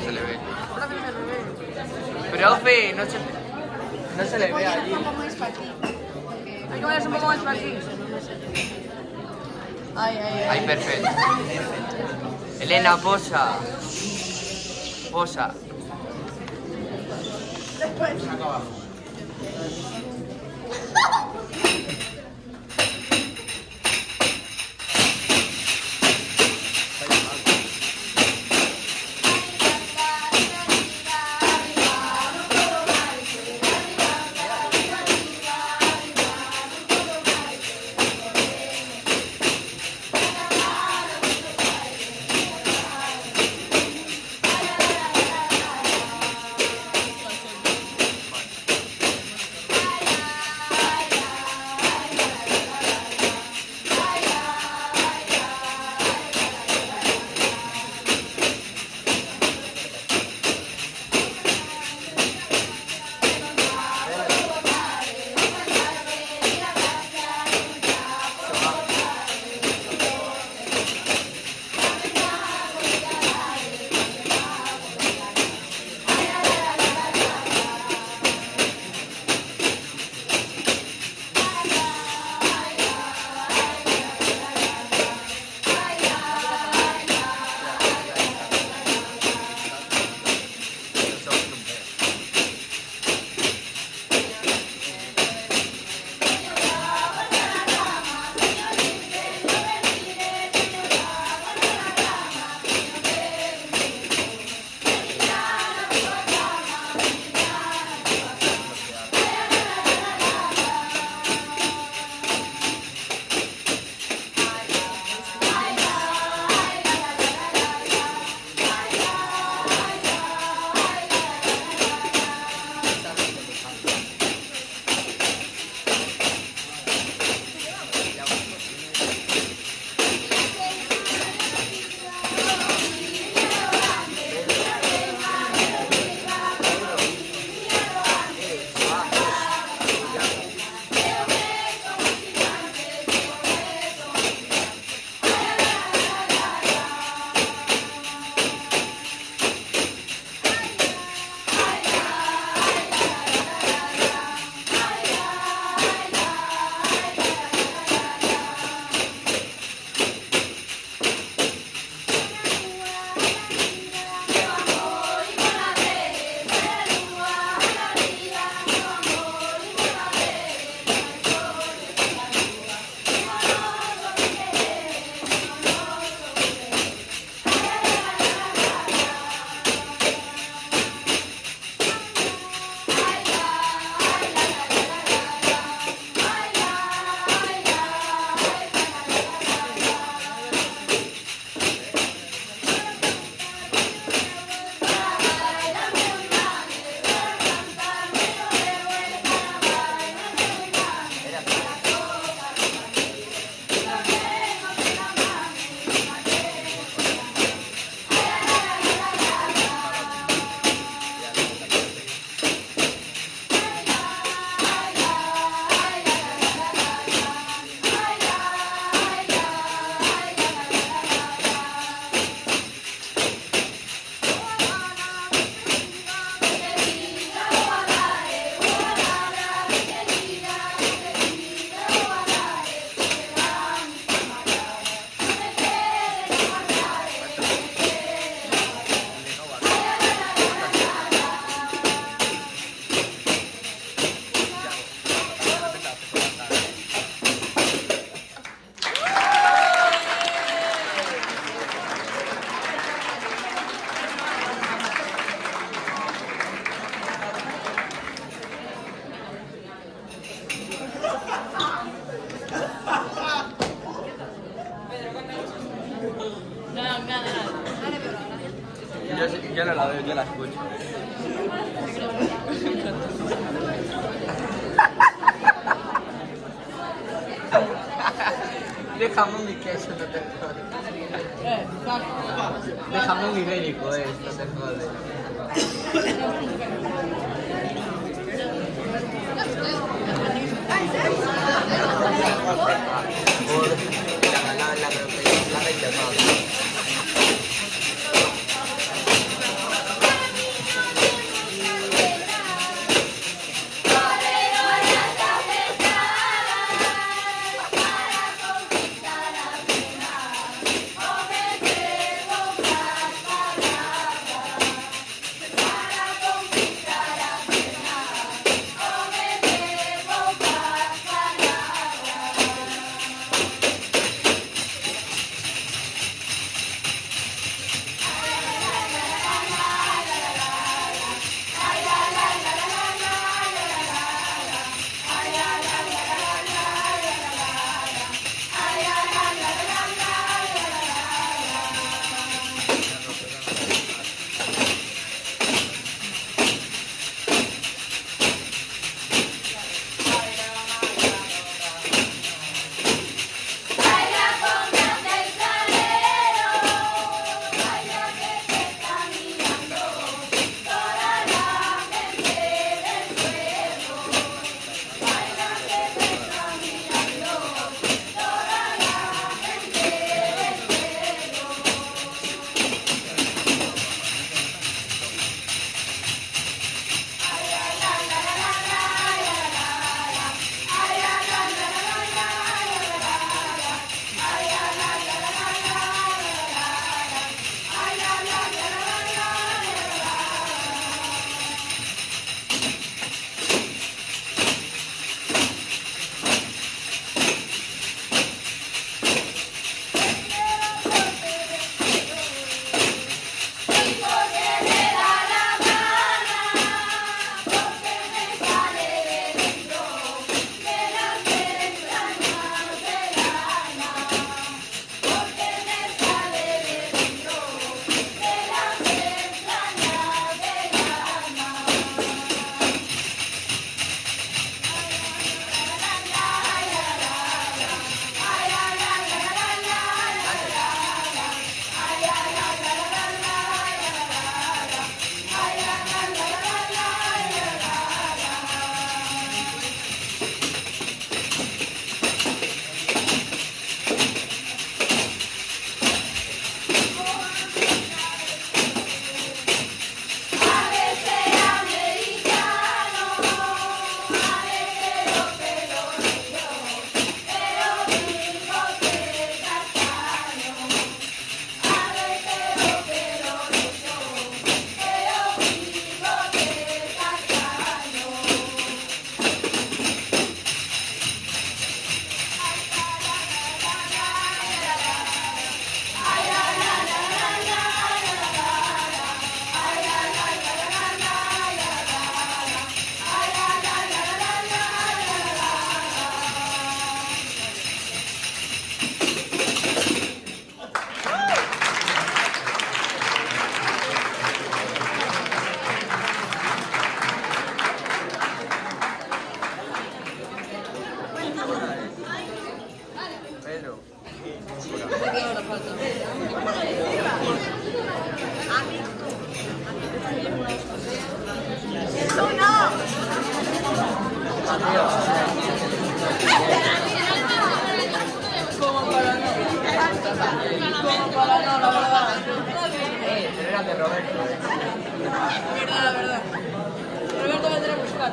se le ve. A la profe no se le ve. Profe, no se, no se le ve allí. Hay que ponerse un poco más para aquí. Ay, ay, ay. Ahí, perfecto. Elena, posa. Posa. Después. Acá abajo. Yo no la veo, yo la escucho. Déjame un queso, no te jodes. Déjame un ibérico, eh, no te jodes. de Roberto. Verdad, verdad. Roberto va a tener que buscar.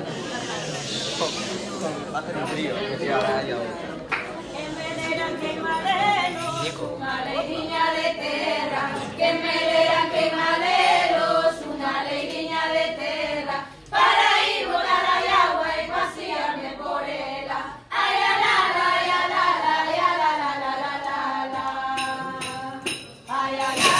Va a hacer un frío, que tío, ahora ya. Una alegría de terra, que me leran que maderos, una alegría de terra, para ir volar a agua y pasearme por ella. Ay, la la la, ay, la la, ay, la la la la la la. Ay, la la.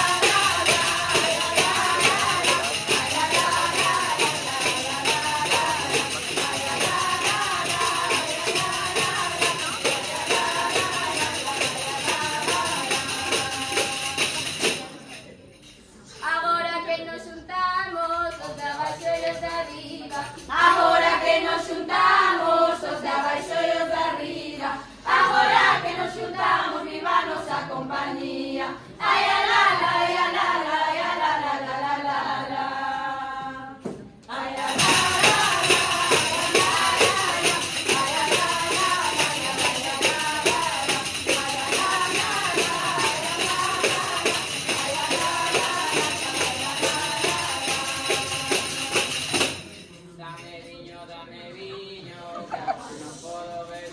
dame viño, que agua non podo beber.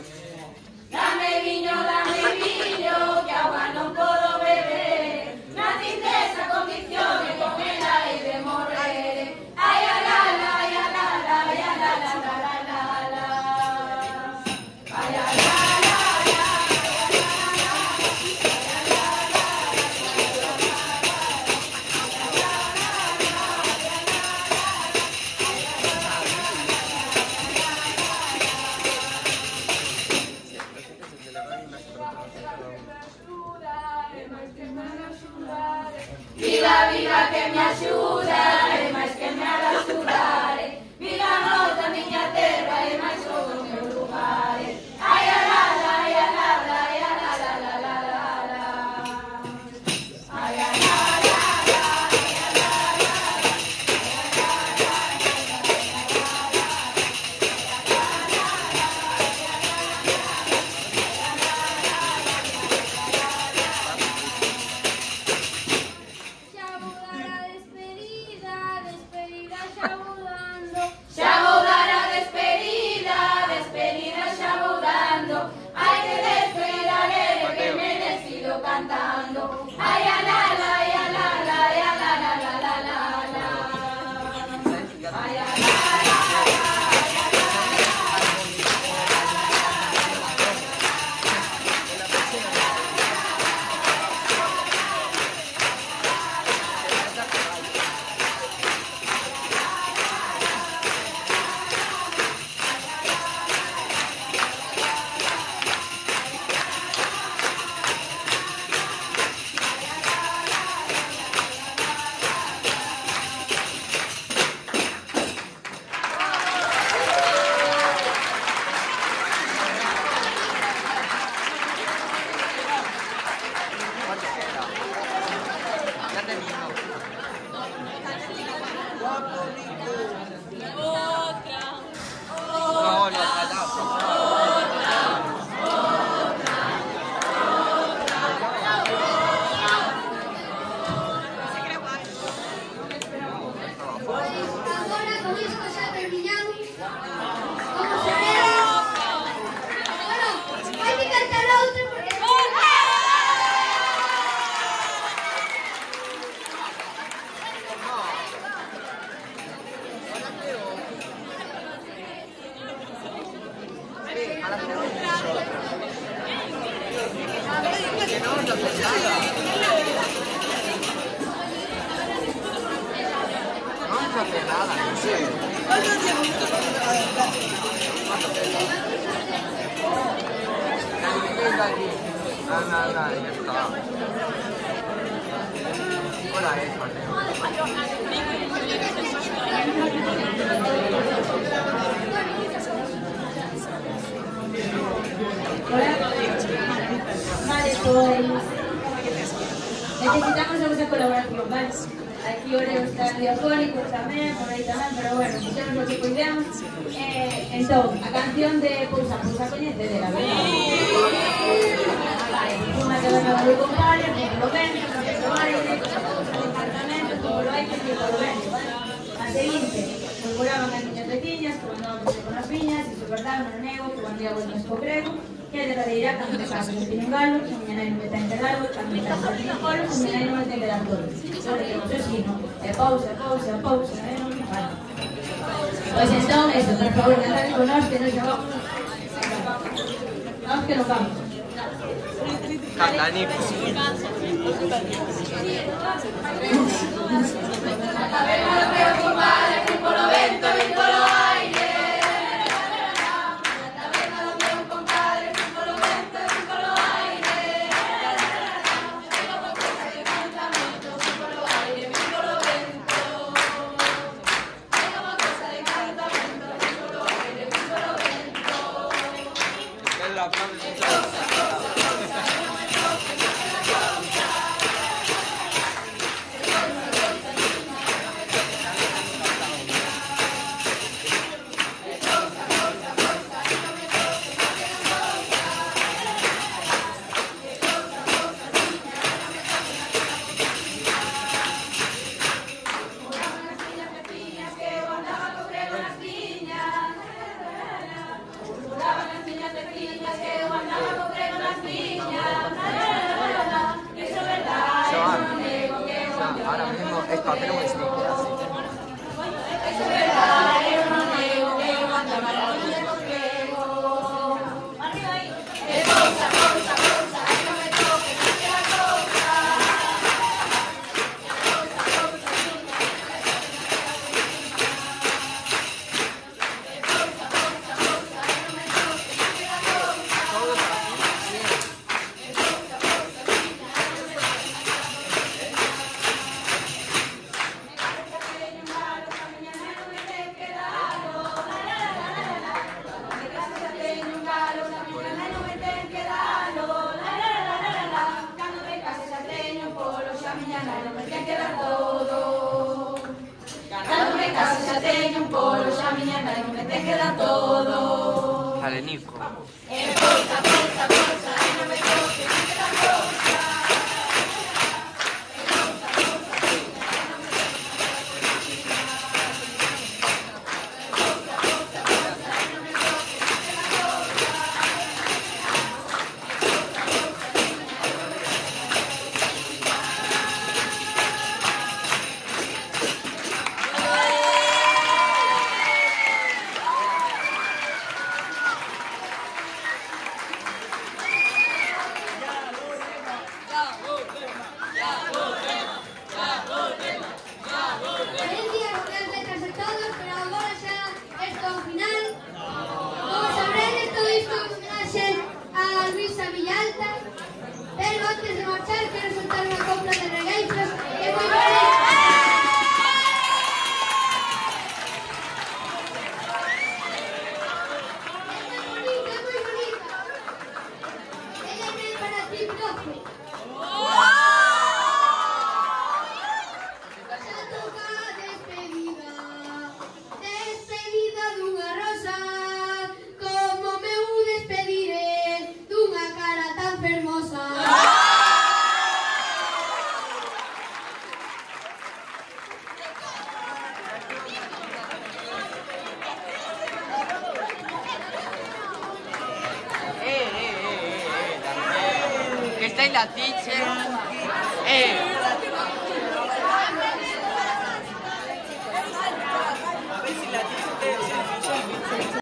Dame viño, dame viño, que agua non podo beber. Naciste esa condición e con ela hai de morrer. Ai, a la, la, ai, a la, la, ai, a la, la, la, la, la, la. Ai, a la, la, la, Viva, viva que me axuda, e máis que me haga xudar. Viva nós da miña terra, e máis o do meu lugar. Ai, a la, la, ai, a la, la, ai, a la, la, la, la, la, la. Ai, a la, la, la, ai, a la, la, xa vou dar a despedida, despedida xa vou dando. Hai que despedir a lere que me decido cantando. Ai, a la, la, ai, a la, la, ai, a la, la, la, la, la, la. Ai, a la, la, la, ai, a la, Agora con isto xa terminamos. Como se ve? Bueno, hai que cantar outra porque... No hace nada, no sé. No, no, no, ya está. Hola, es Vale, pues necesitamos a vuestra colaboración, ¿vale? Aquí Oreo está diafónico tamén, por aí tamén, pero bueno, fixemos o que podemos. Eh, entón, a canción de Pousa, Pousa coñecedera, verdad? Vale, unha que venga do compadre, polo vento, polo aire, pousa de apartamentos, polo aire, polo vento, vale? A seguinte, murmuraban as miñas veciñas, que mandaban con as viñas, e se verdade, non nego, que mandía vueltas co grego, que é derradeira cando te casas de un galo, que miña nai non me ten que dar, cando me casas de un galo, que miña nai non me ten que dar todo. Sobre que non se sino, e pausa, pausa, pausa, e non me fala. Pois entón, eso, por favor, cantad con nós, que non xa vamos. Nós que non vamos. Catanipo. a ver a lo meu compadre, que polo vento, vin polo aire. de Nico. La teacher.